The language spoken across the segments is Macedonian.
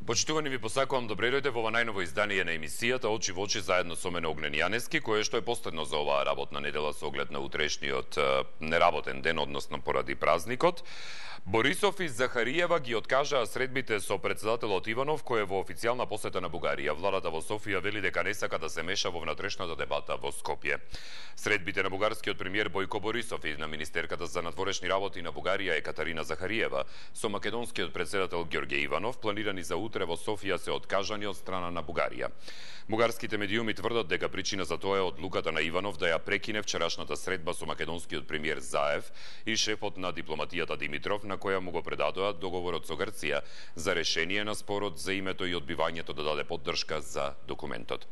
Почитувани, ви посакувам добре дојде во ова најново издание на емисијата Очи во очи заедно со мене Огнен Јанески, кое што е последно за оваа работна недела со оглед на утрешниот неработен ден, односно поради празникот. Борисов и Захариева ги откажаа средбите со председателот Иванов, кој е во официјална посета на Бугарија. Владата во Софија вели дека не сака да се меша во внатрешната дебата во Скопје. Средбите на бугарскиот премиер Бојко Борисов и на министерката за надворешни работи на Бугарија Екатерина Захариева со македонскиот председател Ѓорѓе Иванов планирани за утре во Софија се откажани од страна на Бугарија. Бугарските медиуми тврдат дека причина за тоа е одлуката на Иванов да ја прекине вчерашната средба со македонскиот премиер Заев и шефот на дипломатијата Димитров, на која му го предадоа договорот со Грција за решение на спорот за името и одбивањето да даде поддршка за документот.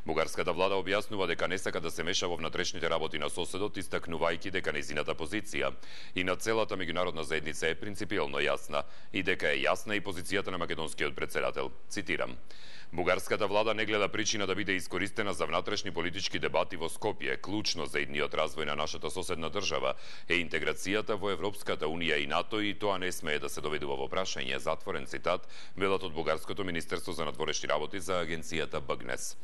Бугарската влада објаснува дека не сака да се меша во внатрешните работи на соседот, истакнувајќи дека нејзината позиција и на целата меѓународна заедница е принципиелно јасна и дека е јасна и позицијата на македонскиот председател. Цитирам: Бугарската влада не гледа причина да биде искористена за внатрешни политички дебати во Скопје. Клучно за идниот развој на нашата соседна држава е интеграцијата во Европската унија и НАТО и тоа не смее да се доведува во прашање. Затворен цитат, велат од Бугарското министерство за надворешни работи за агенцијата БГНЕС.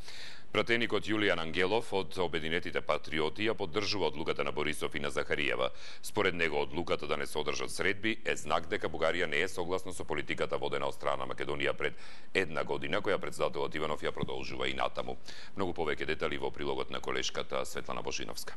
Пратеникот Јулијан Ангелов од Обединетите патриоти ја поддржува одлуката на Борисов и на Захариева. Според него, одлуката да не се одржат средби е знак дека Бугарија не е согласна со политиката водена од страна на Македонија пред една година, која председателот Иванов ја продолжува и натаму. Многу повеќе детали во прилогот на колешката Светлана Божиновска.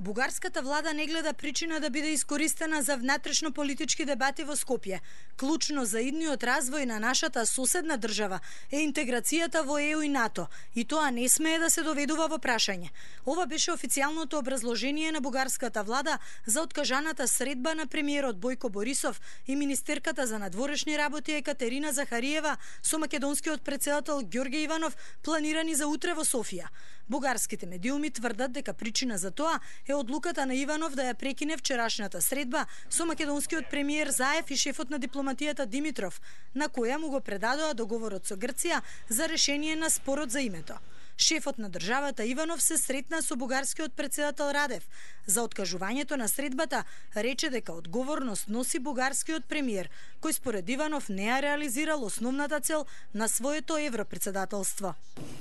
Бугарската влада не гледа причина да биде искористена за внатрешно политички дебати во Скопје. Клучно за идниот развој на нашата соседна држава е интеграцијата во ЕУ и НАТО и тоа не смее да се доведува во прашање. Ова беше официјалното образложение на бугарската влада за откажаната средба на премиерот Бојко Борисов и министерката за надворешни работи Екатерина Захариева со македонскиот председател Ѓорѓе Иванов планирани за утре во Софија. Бугарските медиуми тврдат дека причина за тоа е одлуката на Иванов да ја прекине вчерашната средба со македонскиот премиер Заев и шефот на дипломатијата Димитров, на која му го предадоа договорот со Грција за решение на спорот за името. Шефот на државата Иванов се сретна со бугарскиот председател Радев. За откажувањето на средбата рече дека одговорност носи бугарскиот премиер, кој според Иванов не ја реализирал основната цел на своето европредседателство.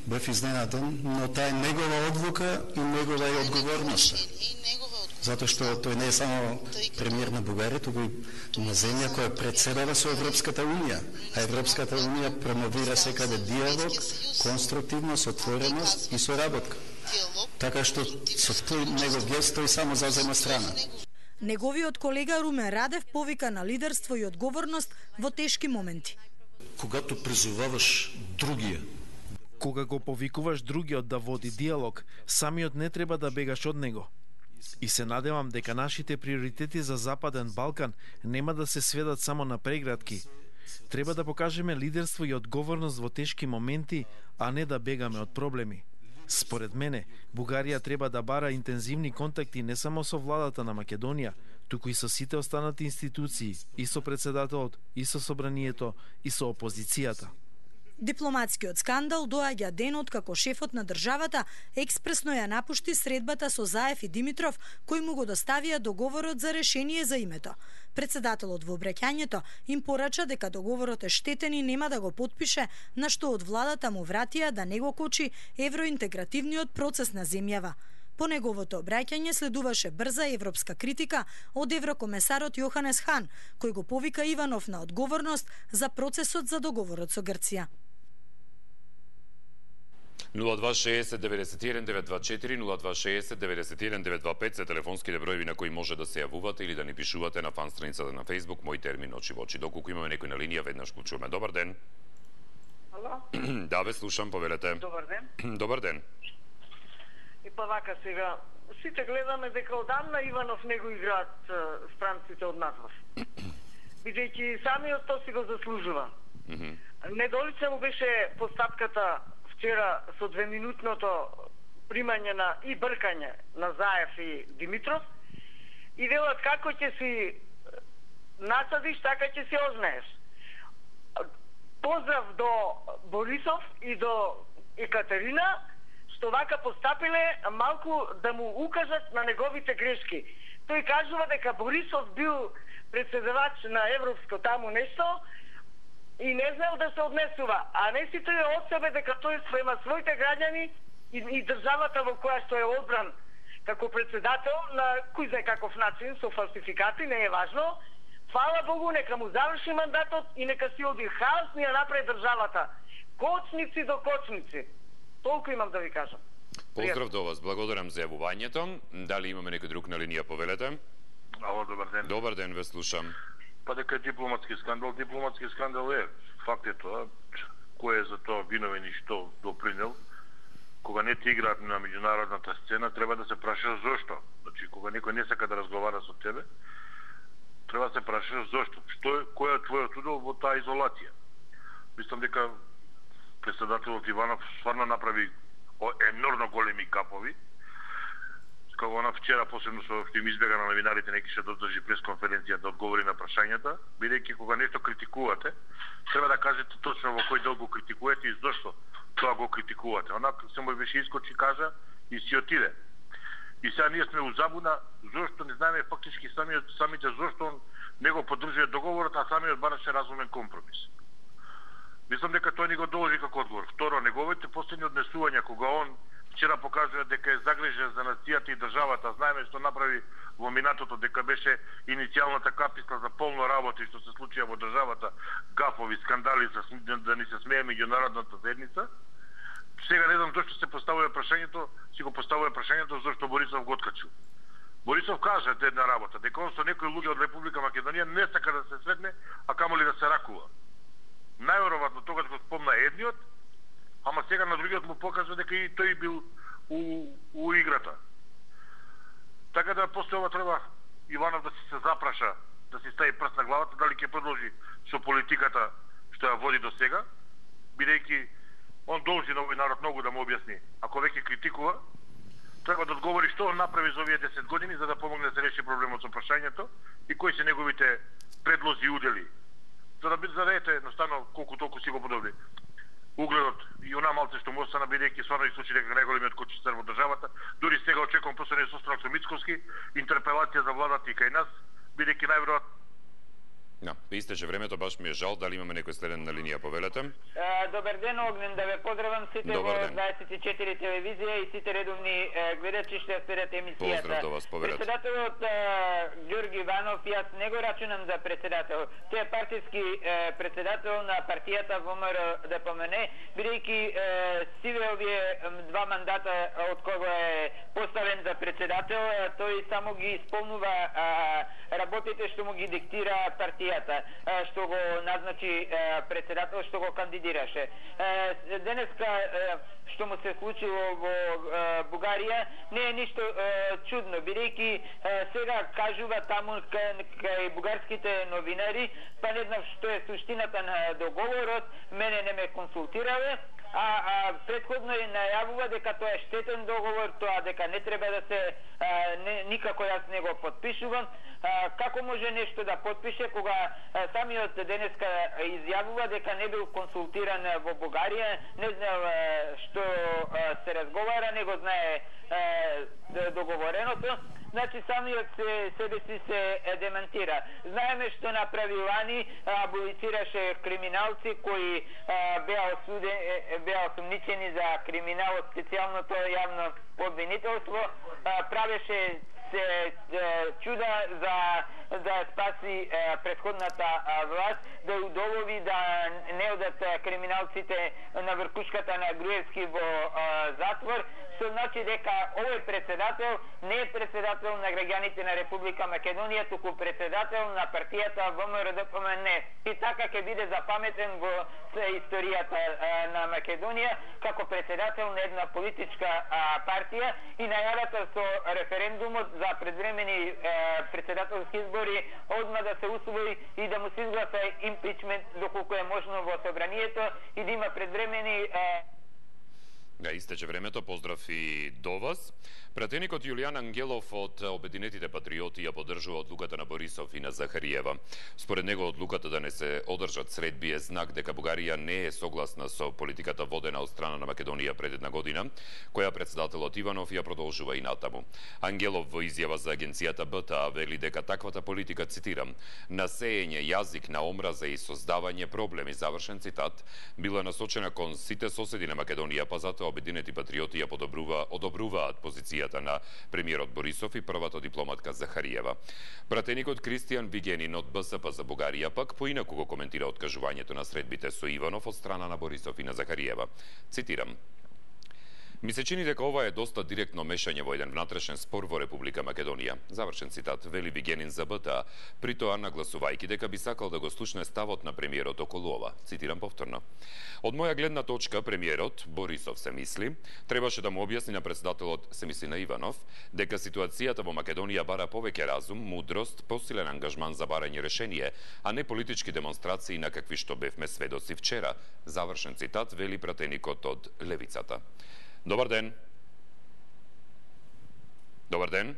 Бев изненаден, но таа е негова одлука и негова е одговорност. Затоа што тој не е само премиер на Бугарија, туку и на земја која претседава со Европската унија. А Европската унија промовира секаде диалог, конструктивност, отвореност и соработка. Така што со тој негов гест тој само зазема страна. Неговиот колега Румен Радев повика на лидерство и одговорност во тешки моменти. Когато призоваваш другија, кога го повикуваш другиот да води диалог, самиот не треба да бегаш од него. И се надевам дека нашите приоритети за Западен Балкан нема да се сведат само на прегратки. Треба да покажеме лидерство и одговорност во тешки моменти, а не да бегаме од проблеми. Според мене, Бугарија треба да бара интензивни контакти не само со владата на Македонија, туку и со сите останати институции, и со председателот, и со собранието, и со опозицијата. Дипломатскиот скандал доаѓа денот како шефот на државата експресно ја напушти средбата со Заев и Димитров, кои му го доставија договорот за решение за името. Председателот во обраќањето им порача дека договорот е штетен и нема да го потпише, на што од владата му вратија да не го кочи евроинтегративниот процес на земјава. По неговото обраќање следуваше брза европска критика од еврокомесарот Јоханес Хан, кој го повика Иванов на одговорност за процесот за договорот со Грција. 0260 91 924 0260 91 925 се телефонските броеви на кои може да се јавувате или да ни пишувате на фан страницата на Facebook Мој термин очи во очи. Доколку имаме некој на линија, веднаш го чуваме. Добар ден. Ало? Да, ве слушам, повелете. Добар ден. Добар ден. И па вака сега, сите гледаме дека одамна Иванов не го играат странците од надвор. Бидејќи самиот тоа си го заслужува. Недолица му беше постапката вчера со 2-минутното примање на и бркање на Заев и Димитров и велат како ќе си насадиш, така ќе си ознаеш. Поздрав до Борисов и до Екатерина, што вака постапиле малку да му укажат на неговите грешки. Тој кажува дека Борисов бил председавач на Европско таму нешто, и не знаел да се однесува, а не си тој од себе дека тој спрема своите граѓани и државата во која што е одбран како председател на кој знае каков начин со фалсификати, не е важно. Фала Богу, нека му заврши мандатот и нека си оди хаос ни ја направи државата. Кочници до кочници. Толку имам да ви кажам. Поздрав до вас, благодарам за јавувањето. Дали имаме некој друг на линија, повелете? Ало, добар ден. Добар ден, ве слушам. Па дека дипломатски скандал е. Факт е тоа. Кој е за тоа виновен и што допринел? Кога не ти играат на меѓународната сцена, треба да се прашаш зошто. Значи, кога некој не сака да разговара со тебе, треба да се прашаш зошто. Кој е твојот удел во таа изолација? Мислам дека председателот Иванов стварно направи енормно големи капови. Како она вчера, посебно што им избега на новинарите, неки ще додржи пресконференција да одговори на прашањата, бидејќи кога нешто критикувате, треба да кажете точно во кој дел го критикувате и зошто тоа го критикувате. Онак само беше искочи, кажа и си отиде. И сега ние сме у забуна зошто не знаеме фактички самите зошто он не го поддржува договорот, а самиот бараше разумен компромис. Мислам дека тој ни го должи како одговор. Второ, неговите последни однесувања кога он вчера покажува дека е загрижен за нацијата и државата, знаеме што направи во минатото, дека беше иницијалната каписла за полно работа што се случија во државата, гафови, скандали, да ни се смее меѓународната заедница. Сега не знам зашто се поставува прашањето, си го поставува прашањето зашто Борисов го откачил. Борисов кажа една работа, дека он со некои луѓе од Република Македонија не сака да се сретне, а камоли да се ракува. Најверојатно тогаш го спомна едниот, ама сега на другиот му покажа дека и тој бил у играта. Така да после ова треба Иванов да се запраша, да си стави прст на главата, дали ќе продолжи со политиката што ја води до сега, бидејќи он должи на овој народ многу да му објасни. Ако веќе критикува, треба да одговори што он направи за овие 10 години за да помогне да се реши проблемот со прашањето и кои се неговите предлози и удели. За да ете едноставно колку толку си го подобри угледот и она малце што му остана, бидејќи стварно и случи дека најголемиот кочицар во државата. Дури сега очекувам последниот состанок со Мицковски, интерпелација за владата и кај нас, бидејќи најверојатно истече времето, баш ми е жал. Дали имаме некој следен на линија, повелете? Добар ден, Огнен, да ве поздравам сите во 24 телевизија и сите редовни гледачи што ја следат емисијата. Поздрав до вас, повелете. Председателот Ѓорги Иванов, јас не го рачунам за председател. Тој е партиски председател на партијата ВМРО-ДПМН, бидејќи сиве овие два мандата од кога е поставен за председател, тој само ги исполнува работите што му ги диктира партијата, што го назначи председател, што го кандидираше. Денеска што му се случило во Бугарија не е ништо чудно, бидејќи сега кажува таму кај бугарските новинари, па не знам што е суштината на договорот, мене не ме консултирале, а предходно најавува дека тоа е штетен договор, тоа дека не треба да се никако јас не го подпишувам. Како може нешто да подпише кога самиот денеска изјавува дека не бил консултиран во Бугарија, не знае што се разговара, не го знае договореното. Значи самиот себе си се демантира. Знаеме што направи лани, аболицираше криминалци кои беа осумничени за криминал од специјалното јавно обвинителство, правеше се чуда за да спаси претходната власт, да удоволи да не одат криминалците на вркушката на Груевски во затвор, што значи дека овој председател не е председател на граѓаните на Република Македонија, туку председател на партијата ВМРО-ДПМН. И така ќе биде запаметен во историјата на Македонија како председател на една политичка партија и најавата со референдумот за предвремени председателски избори одма да се усвои и да му се изгласа импичмент доколку е можно во собранието и да има предвремени Истече времето, поздрав и до вас. Пратеникот Јулијан Ангелов од Обединетите патриоти ја поддржува одлуката на Борисов и на Захариева. Според него одлуката да не се одржат средби е знак дека Бугарија не е согласна со политиката водена од страна на Македонија пред една година, која председателот Иванов ја продолжува и натаму. Ангелов во изјава за агенцијата БТА вели дека таквата политика, цитирам, на сеење јазик на омраза и создавање проблеми, завршен цитат, била насочена кон сите соседи на Македонија, па затоа Обединети патриоти ја одобруваат позицијата на премиерот Борисов и првата дипломатка Захариева. Пратеникот Кристијан Вигенин од БСП за Бугарија пак поинаку го коментира откажувањето на средбите со Иванов од страна на Борисов и на Захариева. Цитирам: "Ми се чини дека ова е доста директно мешање во еден внатрешен спор во Република Македонија." Завршен цитат, вели Вигенин за БТА, при тоа нагласувајќи дека би сакал да го слушне ставот на премиерот околу ова. Цитирам повторно: "Од моја гледна точка, премиерот, Борисов се мисли, требаше да му објасни на председателот, се мисли на Иванов, дека ситуацијата во Македонија бара повеќе разум, мудрост, посилен ангажман за барање решение, а не политички демонстрации на какви што бевме сведоци вчера." Завршен цитат, вели пратеникот од Левицата. Добар ден. Добар ден.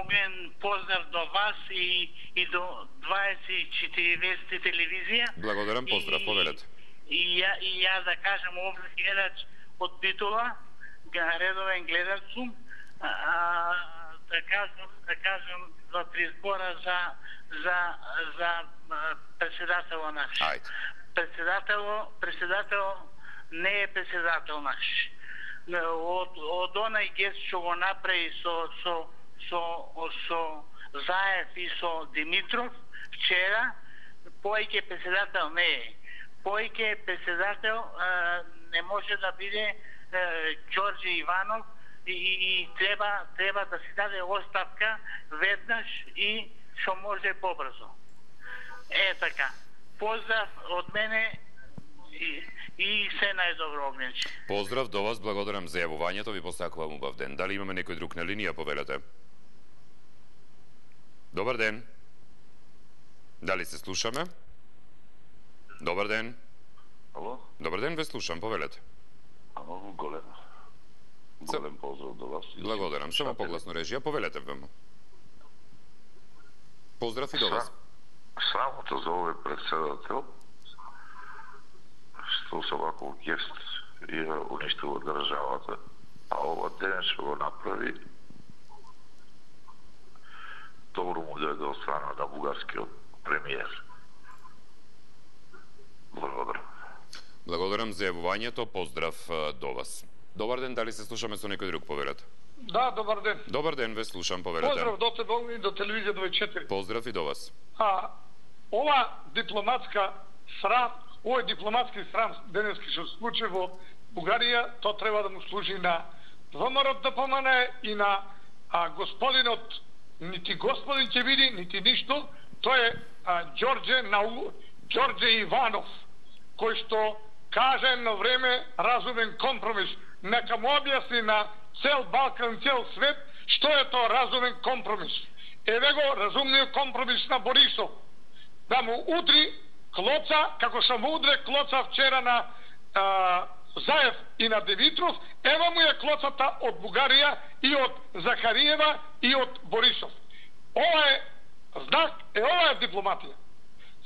Оген поздрав до вас и до 24 телевизија. Благодарам, поздрав, повелете. И ја да кажам овде гледач од Битола, редовен гледач сум, да кажам два-три збора за председател наш. Ајде. Председател не е председател наш. Од онај гест што го направи со Заев и со Димитров вчера, поеќе председател не е. Поеќе председател не може да биде Ѓорѓе Иванов и треба да си даде оставка веднаш и што може побрзо. Така. Поздрав од мене и се најдобро, Огненче. Поздрав до вас, благодарам за јавувањето, ви посакувам убав ден. Дали имаме некој друг на линија, повелете? Добар ден. Дали се слушаме? Добар ден. Ало? Добар ден, ве слушам, повелете. Голем поздрав до вас. Благодарам, само погласно режија, повелете вемо. Поздрав и до вас. Срамота за овој председател, што со ваков гест ја уништува државата, а ова ден што го направи, добро му дојде од страна на бугарскиот премиер. Благодарам. Благодарам за јавувањето, поздрав до вас. Добар ден, дали се слушаме со некој друг, повелете? Да, добар ден. Добар ден, ве слушам, повелете. Поздрав до тебе и до телевизија 24. Поздрав и до вас. Ова дипломатска срам, овој дипломатски срам денески што се случи во Бугарија, то треба да му служи на ВМРО ДПМН и на господинот, нити господин ќе види, нити ништо, тој е Ѓорѓе Иванов, кој што каже едно време разумен компромис. Нека му објасни на цел Балкан, цел свет, што е тоа разумен компромис. Еве го разумниот компромис на Борисов. Да му удри клоца, како што му удре клоца вчера на Заев и на Димитров, ева му е клоцата од Бугарија и од Захариева и од Борисов. Ова е знак, ова е дипломатија.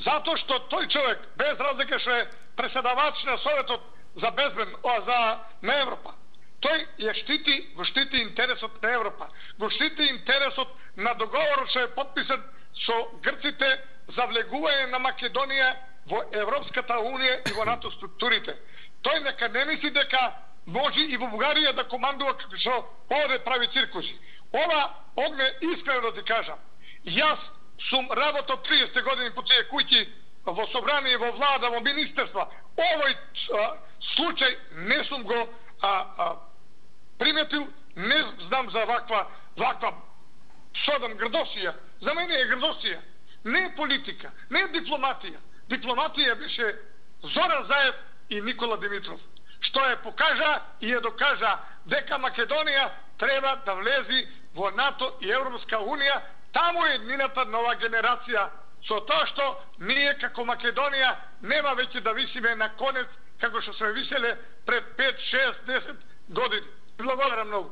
Затоа што тој човек, без разлика што е преседавач на Советот за безбедно, на Европа, тој го штити интересот на Европа, го штити интересот на договорот што е подписан со грците за влегување на Македонија во Европската Унија и во НАТО структурите. Тој нека не мисли дека може и во Бугарија да командува како што овде прави циркуси. Ова, Огне, искрено да ти кажам, јас сум работал 30 години по тие куќи во собрание, во влада, во министерства. Овој случај не сум го приметил, не знам за ваква содам грдосија. За мене е грдосија. Не е политика, не е дипломатија. Дипломатија беше Зоран Заев и Никола Димитров, што е покажа и е докажа дека Македонија треба да влези во НАТО и Европска Унија. Таму е еднината нова генерација со тоа што ние како Македонија нема веќе да висиме на конец како што сме виселе пред 5, 6, 10 години. Благодарам многу.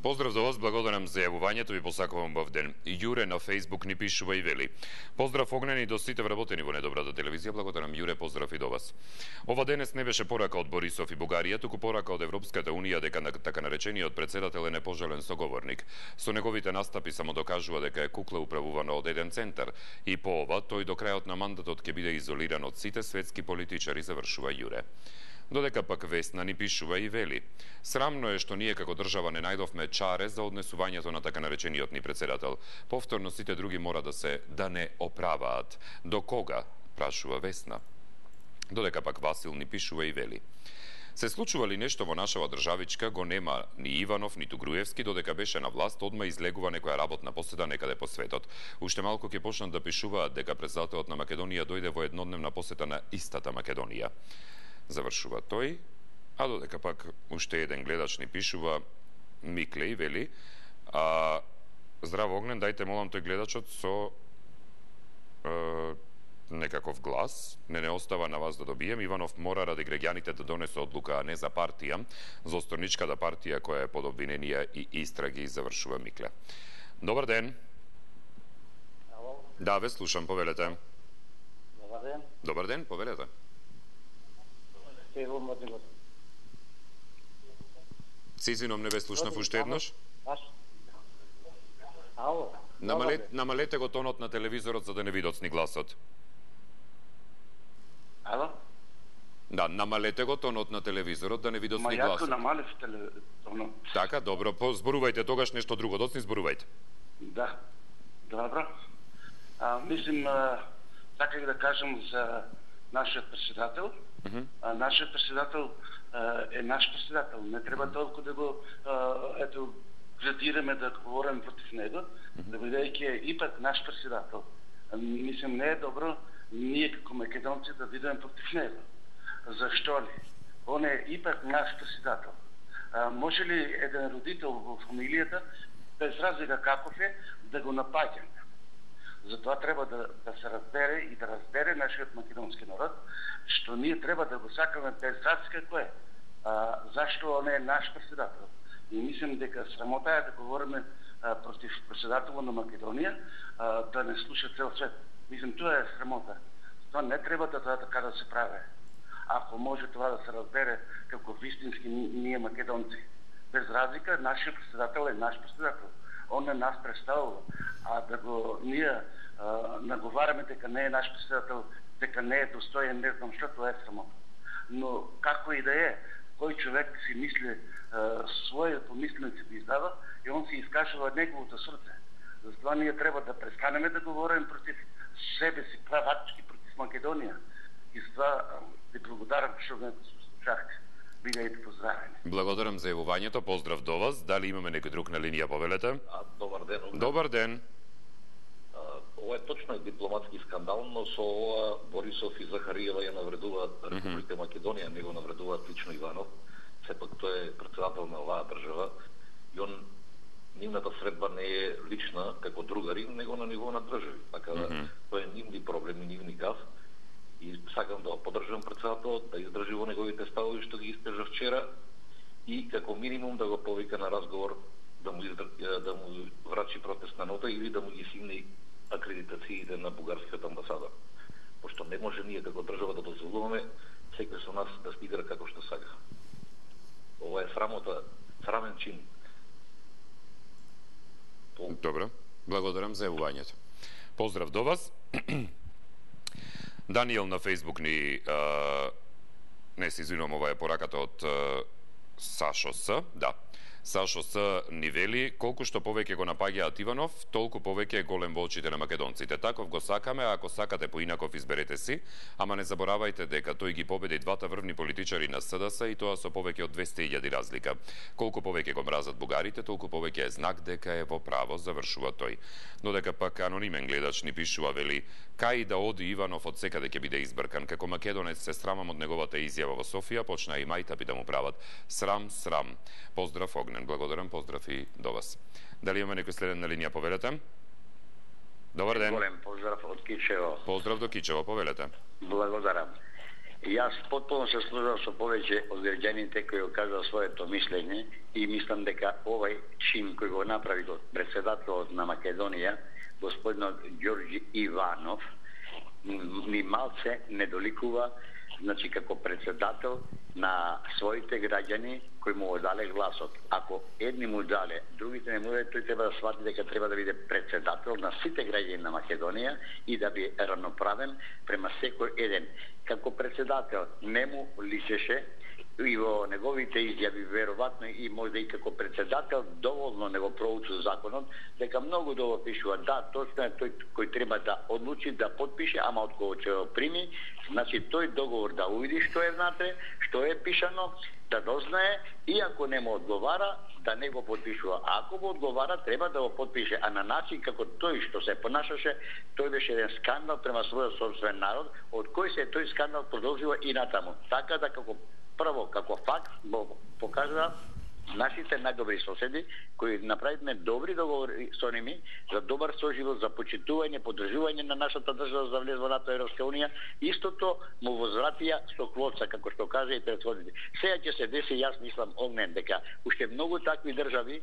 Поздрав за вас, благодарам за јавувањето и посакувам бав ден. Јуре на Facebook ни пишува и вели: поздрав огнени до сите вработени во недобрата телевизија. Благодарам Јуре, поздрав и до вас. Ова денес не беше порака од Борисов и Бугарија, туку порака од Европската унија дека така наречениот председател е непожелен соговорник. Со неговите настапи само докажува дека е кукла управувана од еден центар и по ова тој до крајот на мандатот ќе биде изолиран од сите светски политичари, завршува Јуре. Додека пак Весна ни пишува и вели: срамно е што ние како држава не најдовме чаре за однесувањето на така наречениот ни председател. Повторно сите други мора да не оправаат. До кога? Прашува Весна. Додека пак Васил ни пишува и вели: се случува ли нешто во нашава државичка, го нема ни Иванов, ниту Груевски, додека беше на власт, одма излегува некоја работна поседа некаде по светот. Уште малку ќе почнат да пишуваат дека председателот на Македонија дојде во еднодневна посета на истата Македонија. Завршува тој, а додека пак уште еден гледач ни пишува, Микле, и вели: здраво Огнен, дајте молам тој гледачот со некаков глас, не остава на вас да добием. Иванов мора ради граѓаните да донесе одлука, а не за партија, за осторничката партија која е под обвиненија и истраги, завршува Микле. Добар ден. Ало. Да, ве слушам, повелете. Добар ден. Добар ден, повелете. Се извинувам, не ве слушнав уште еднаш. Ало. Намалете го тонот на телевизорот за да не ви доцни гласот. Ало? Да, намалете го тонот на телевизорот да не ви доцни гласот. Ма јако намалев тонот. Така, добро, зборувајте тогаш нешто друго, доцни зборувајте. Да, добро. Мислим, саках да кажам за нашиот председател. Нашиот председател е наш председател. Не треба толку да го градираме, да говорим против него, да бидејќи е ипак наш председател. Мислим, не е добро ние како македонци да бидеме против него. Зашто ли? Он е ипак наш председател. Може ли еден родител во фамилијата, без разлика каков е, да го напаѓа? Затоа треба да се разбере и да разбере нашиот македонски народ, што ние треба да го сакаме без разлика кој е. Зашто он е наш председател? И мислим дека срамота е да говориме против председателот на Македонија, да не слуша цел свет. Мислим, тоа е срамота. Тоа не треба така да се прави. Ако може това да се разбере како вистински ние македонци. Без разлика, нашиот председател е наш председател. Он не нас представува. А да го ние наговараме дека не е наш председател, дека не е достоен, не знам што, тоа е срамота. Но како и да е, кој човек си мисли своје помисленици да издава и он си искажува неговото срце. Затоа ние треба да престанеме да говорим против себе си, правачки против Македонија. И затоа ви благодарам што ме слушахте. Бидејте поздравени. Благодарам за јавувањето, поздрав до вас. Дали имаме некој друг на линија, повелете? Добар ден. Добар ден. Ова е точно дипломатски скандал, но со ова Борисов и Захариева ја навредуваат Република Македонија, не го навредуваат лично Иванов. Сепак тој е председател на оваа држава и он нивната средба не е лична како другари, него на ниво на држави. Така да тоа е нивни проблеми, нивни гав. И сакам да поддржам председателот, да издржи во неговите ставови што ги искажа вчера и како минимум да го повика на разговор, да му врачи протестна нота или да му ги симне акредитациите на бугарската амбасада. Пошто не може ние како држава да дозволуваме секој со нас да стигра како што сака. Ова е срамота, срамен чин. Добро, благодарам за јавувањето. Поздрав до вас. Даниел на Facebook ни не се извинувам, ова е пораката од Сашо С. Да. Сашо С. ни вели: колку што повеќе го напаѓаат Иванов, толку повеќе е голем во очите на македонците. Таков го сакаме, а ако сакате поинаков изберете си, ама не заборавајте дека тој ги победи двата врвни политичари на СДС и тоа со повеќе од 200.000 разлика. Колку повеќе го мразат бугарите, толку повеќе е знак дека е во право, завршува тој. Додека пак анонимен гледач ни пишува, вели: кај да оди Иванов од секаде ќе биде избркан. Како македонец се срамам од неговата изјава во Софија, почна и мајтапи да му прават. Срам, срам. Поздрав Огнен. Благодарам, поздрав и до вас. Дали имаме некој следен на линија, повелете? Добар ден. Голем поздрав од Кичево. Поздрав до Кичево, повелете. Благодарам. Јас потполно се служам со повеќе од граѓаните кои го кажа своето мислење и мислам дека овај чин кој го направи председателот на Македонија, господинот Ѓорѓи Иванов, ни малце не доликува, значи како председател на своите граѓани кои му одале гласот. Ако едни му дале, другите не му дале, тој треба да свати дека треба да биде председател на сите граѓани на Македонија и да биде равноправен према секој еден. Како председател не му личеше и во неговите изјави веројатно и може и како председател доволно не го проучил законот, дека многу добро пишува. Да, точно е тој кој треба да одлучи да потпише, ама од кого ќе го прими, значи тој договор да увиди што е внатре, што е пишано, да дознае и ако не му одговара, да не го потпишува. А ако му одговара, треба да го потпише. А на начин како тој што се понашаше, тој беше еден скандал према својот собствен народ, од кој се тој скандал продолжува и натаму. Така да како прво, како факт, покажа нашите најдобри соседи, кои направивме добри договори со ними за добар соживот, за почитување, поддржување на нашата држава за влез во НАТО и Европска унија, истото му возвратија со квоца, како што кажа и претходите. Сега ќе се деси, јас мислам, Огнен, дека уште многу такви држави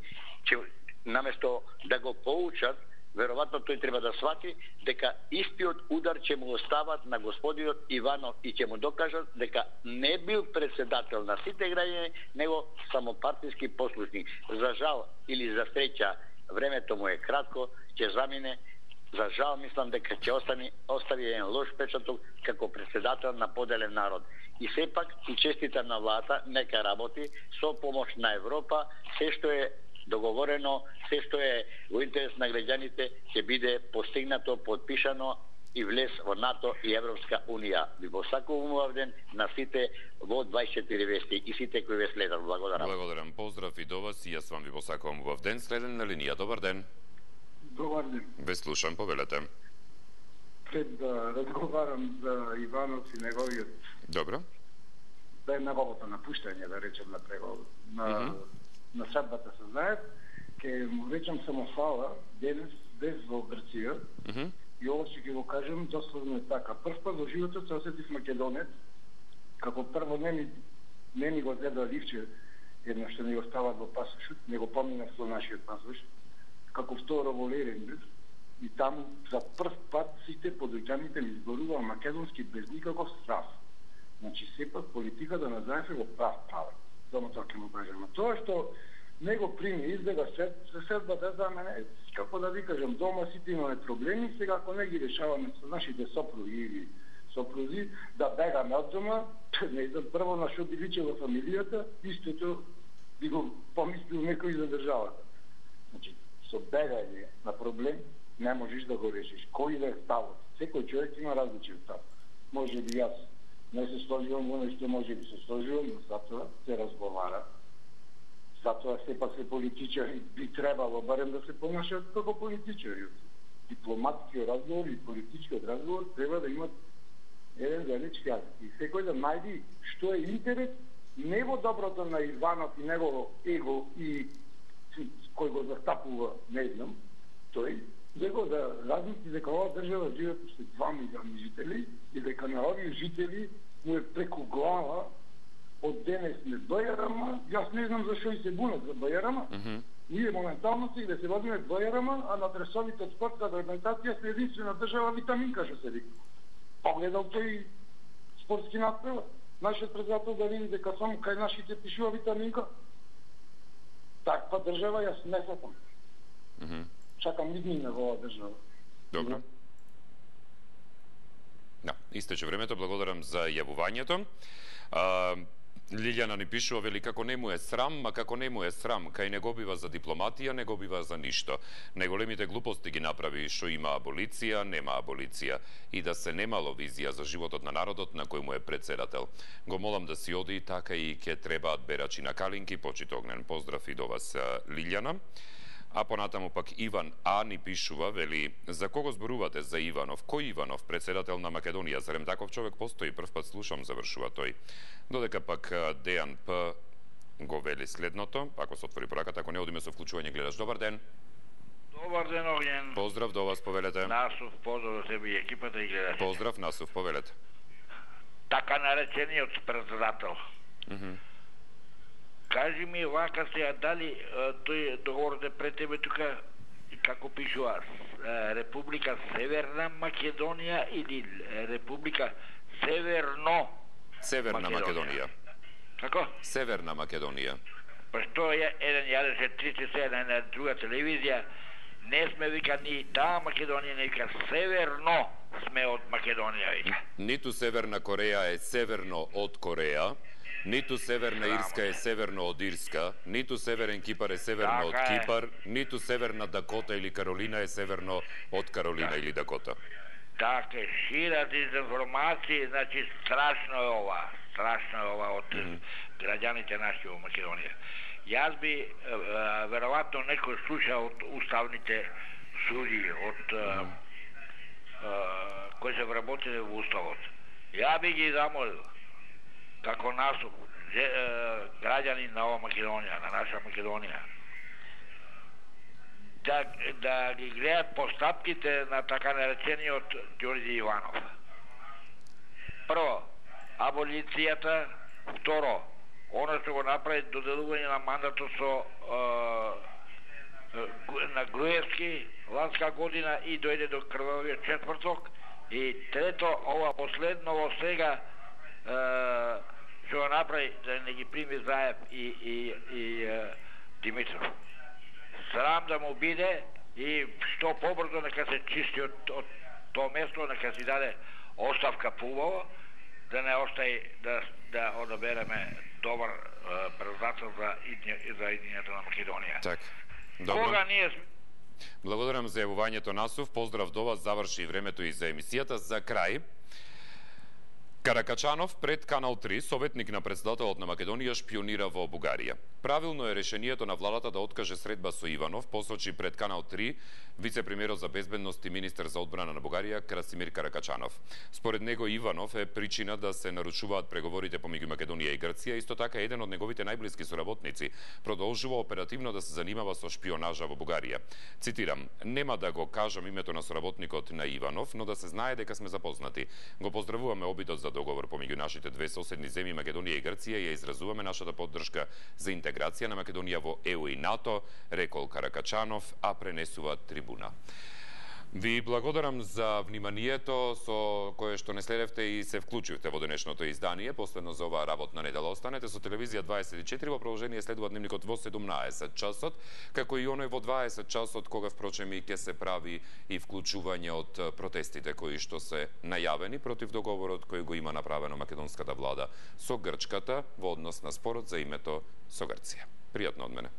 ќе наместо да го поучат, веројатно тој треба да свати дека истиот удар ќе му остават на господинот Иванов и ќе му докажат дека не бил председател на сите граѓани, него само партиски послушник. За жал или за среќа, времето му е кратко, ќе замине. За жал мислам дека ќе остави еден лош печаток како председател на поделен народ. И сепак и честитам на владата, нека работи со помош на Европа, се што е договорено, се што е во интерес на граѓаните ќе биде постигнато, подпишано и влез во НАТО и Европска унија. Ви посакувам убав ден на сите во 24 вести и сите кои ве следат. Благодарам. Благодарам. Поздрав и до вас и јас вам ви посакувам убав ден. Следен на линија. Добар ден. Добар ден. Ве слушам, повелете. Пред да разговарам за Иванов и неговиот... Добро. Да е неговото напуштање, да речем, на преговор. На средбата се знаат, ке му речам само фала денес без во Грција и ова ќе го кажем дословно е така. Прв пат во животот се осетив македонец, како прво не ми го зеда ливче едно што не го стават во пасошот, не го поминав со нашиот пасош, како второ во Леренберг и таму за прв пат сите подојќаните ми зборуваа македонски без никаков страв. Значи сепак политиката на Заев го прав правен. Само тоа ќе му кажем. Тоа што него прими избега седбата за мене, како да ви кажам, дома сите имаме проблеми, сега ако не ги решаваме со нашите сопруги или сопрузи, да бегаме од дома, не знам прво на што би личе во фамилијата, истото би го помислил некој за државата. Значи, со бегање на проблем не можеш да го решиш. Кој да е ставот? Секој човек има различен став. Може би јас не се сложувам во нешто, може би се сложувам, но затоа се разговара. Затоа сепак се политичари би требало барем да се понашат како политичари. Дипломатскиот разговор и политичкиот разговор треба да имат еден заеднички јазик. И секој да најди што е интерес не во доброто на Иванов и негово его и кој го застапува, не знам, тој него да размисли дека оваа држава живеат уште 2 милиони жители и дека на овие жители му е преку глава од денес не БЈРМ, јас не знам зашо и се бунат за БЈРМ. Ние моментално си да се водиме БЈРМ, а на тресовите од спортска организација се единствена држава витаминка, што се вика. Погледал тој спортски надпревар. Нашиот председател да види дека само кај нашите пишува витаминка. Таква држава јас не сакам. Чакам иднина во оваа држава. Добро. Да, истече времето, благодарам за јавувањето. Лилјана ни пишува, вели, како не му е срам, а како не му е срам, кај не го бива за дипломатија, не го бива за ништо. Неголемите глупости ги направи, што има аболиција, нема аболиција. И да се немало визија за животот на народот на кој му е председател. Го молам да си оди, така и ке требаат берачи на калинки, почит Огнен. Поздрав и до вас, Лилјана. А понатаму пак Иван А ни пишува, вели, за кого зборувате за Иванов? Кој Иванов, председател на Македонија? Зарем таков човек постои? Прв пат слушам, завршува тој. Додека пак Дејан П го вели следното, ако се отвори пораката, ако не одиме со вклучување гледаш. Добар ден. Добар ден, Огњен. Поздрав до вас, повелете. Насов, поздрав до тебе и екипата и гледачи. Поздрав, Насов, повелете. Така наречениот председател. Кажи ми, вака се, дали тој договорот пред тебе тука, како пишува, Република Северна Македонија или Република Северна Македонија. Како? Северна Македонија. Па што е 1,37 на друга телевизија, не сме вика ни таа Македонија, не вика северно сме од Македонија вика. Ниту Северна Кореја е северно од Кореја, ниту Северна Ирска е северно од Ирска, ниту Северен Кипар е северно од Кипар, ниту Северна Дакота или Каролина е северно од Каролина или Дакота. Така, шира дезинформации, значи страшно е ова од граѓаните наши во Македонија. Јас би, веројатно некој слуша од уставните суди, од кои се вработили во уставот. Ја би ги замолил, како Насов, граѓани на ова Македонија, на наша Македонија, да ги гледат постапките на така наречениот Ѓорѓе Иванов. Прво, аболицијата, второ, оно што го направи доделување на мандатот со на Груевски ланска година и дојде до крвавиот четврток, и трето, ова последново сега што го направи да не ги прими Заев и Димитров. Срам да му биде и што побрзо нека се чисти од тоа место, нека си даде оставка поубаво, да не остаи да одабереме добар председател за иднината на Македонија. Так. Добро. Кога ние благодарам за јавувањето, Насов. Поздрав до вас, заврши времето и за емисијата. За крај, Каракачанов пред Канал 3, советник на председателот на Македонија, шпионира во Бугарија. Правилно е решението на владата да откаже средба со Иванов, посочи пред Канал 3 вице-премиерот за безбедност и министер за одбрана на Бугарија Красимир Каракачанов. Според него Иванов е причина да се нарушуваат преговорите помеѓу Македонија и Грција, исто така еден од неговите најблиски соработници продолжува оперативно да се занимава со шпионажа во Бугарија. Цитирам: "Нема да го кажам името на соработникот на Иванов, но да се знае дека сме запознати. Го поздравуваме обидот за договор помеѓу нашите две соседни земји Македонија и Грција и ја изразуваме нашата поддршка за интеграција на Македонија во ЕУ и НАТО", рекол Каракачанов, а пренесува Трибуна. Ви благодарам за вниманието со кое што не следевте и се вклучивте во денешното издание. Последно за оваа работна недела. Останете со Телевизија 24, во продолжение следува дневникот во 17 часот, како и оној во 20 часот, кога впрочем и ќе се прави и вклучување од протестите кои што се најавени против договорот кој го има направено македонската влада со Грчката во однос на спорот за името со Грција. Пријатно од мене.